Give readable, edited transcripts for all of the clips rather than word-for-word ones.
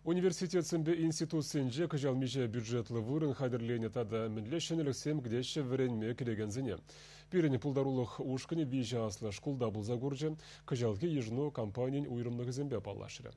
Университетсемпе институтсенче кӑҫал миҫе бюджетлӑ вырӑн хатӗрленӗ тата мӗнле ҫӗнӗлӗхсем кӗтеҫҫӗ вӗренме кӗрекенсене? Пирӗн пултарулӑх ушкӑнӗ виҫӗ аслӑ шкулта пулса курчӗ, кӑҫалхи йышӑну кампанийӗн уйрӑмлӑхӗсемпе паллашрӗ.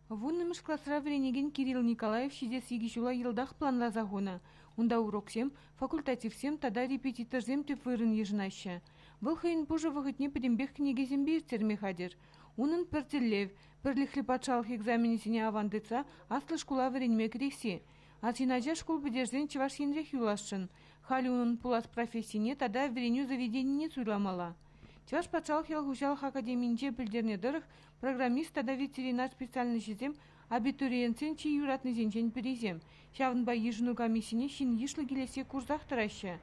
Вуннӑмӗш класра вӗренекен Кирилл Николаев ҫитес икӗ ҫула йӑлтах планласа хунӑ. Унта уроксем, факультативсем тата репетиторсем тӗп вырӑн йышӑнаҫҫӗ. Вӑл хӑйӗн пушӑ вӑхӑтне пӗтӗмпех кӗнекесемпе ирттерме хатӗр. Унӑн пӗр тӗллев – пӗрлӗхлӗ патшалӑх экзаменӗсене аван тытса аслӑ шкула вӗренме кӗресси. Арҫын ача шкул пӗтерсен Чӑваш Енрех юласшӑн. Халӗ унӑн пулас профессине тата вӗренӳ заведенине суйламалла. Чӑваш патшалӑх ял хуҫалӑх академийӗнче пӗлтернӗ тӑрӑх, программист тата ветеринар специальноҫӗсем абитуриентсен чи юратнисенчен пӗрисем. Ҫавӑнпа йышӑну комиссине ҫын йышлӑ килессе курсах тӑраҫҫӗ.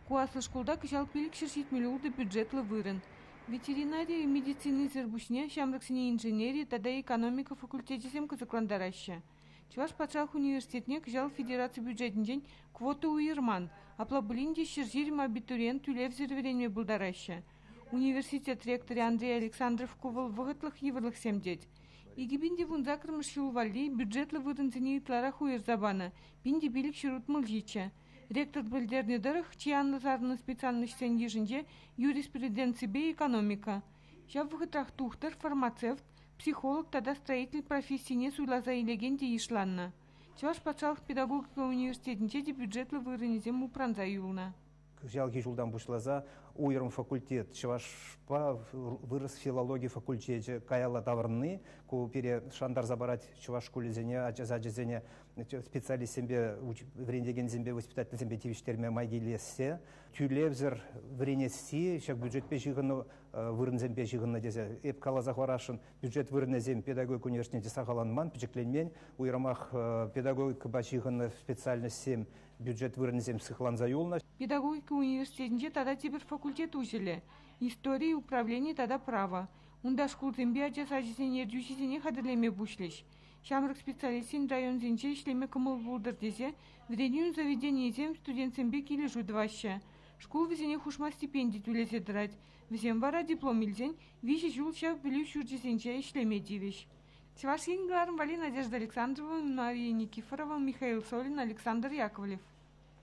Ку аслӑ шкулта кӑҫал 576 бюджетлӑ вырӑн. Ветеринари медицинисӗр пуҫне ҫамрӑксене инженери тата экономика факультечӗсем кӑсӑклантараҫҫӗ. Чӑваш патшалӑх университетне кӑҫал федераци бюджетӗнчен квота уйӑрман, апла пулин те 120 абитуриент тӳлевсӗр вӗренме пултараҫҫӗ. Университет ректорӗ Андрей Александров ку вӑл вӑхӑтлӑх йывӑрлӑхсем тет. 2018 ҫул валли бюджетлӑ вырӑнсене ытларах уйӑрса панӑ, 1567. Ректор пӗлтернӗ тӑрӑх, чи анлӑ сарӑлнӑ специальноҫсен йышӗнче юриспруденципе экономика. Ҫав вӑхӑтрах тухтӑр, фармацевт, психолог тата строитель профессине суйласа илекен те йышланнӑ. Чӑваш патшалӑх педагогика университетӗнче те бюджетлӑ вырӑнӗсем упранса юлнӑ. Кӑҫалхи ҫултан пуҫласа уйрӑм факультет, чӑвашпа вырӑс филологи факультечӗ каялла таврӑнни, ку пире шантарса парать чӑваш шкулӗсене, ача сачӗсене специалистсемпе, вӗрентекенсемпе, воспитательсемпе тивӗҫтерме май килессе, тӳлевсӗр вӗренесси ҫак бюджетпе ҫыхӑннӑ вырӑнсемпе ҫыхӑннӑ тесе эп каласа хӑварасшӑн. Бюджет вырӑнӗсем педагогика университетӗнче сахалланман, пӗчӗкленмен. Уйрӑмах педагогикӑпа ҫыхӑннӑ специальноҫсем бюджет вырӑнӗсем сыхланса юлнӑ. Педагогика университетӗнче тата тепӗр факультет уҫӑлӗ – истори, управлени тата право. Унта шкулсемпе ача сачӗсен ертӳҫисене хатӗрлеме пуҫлӗҫ. Ҫамрӑк специалистсен районсенче ӗҫлеме кӑмӑл пултӑр тесе вӗренӳ заведенийӗсем студентсемпе килӗшӳ тӑваҫҫӗ. Шкул вӗсене хушма стипенди тӳлесе тӑрать. Вӗсем вара диплом илсен 3 ҫул ҫав пӗлӳ ҫурчӗсенче ӗҫлеме тивӗҫ. Чӑваш Ен кӑларӑм валли Надежда Александрова, Мария Никифорова, Михаил Солин, Александр Яковлев.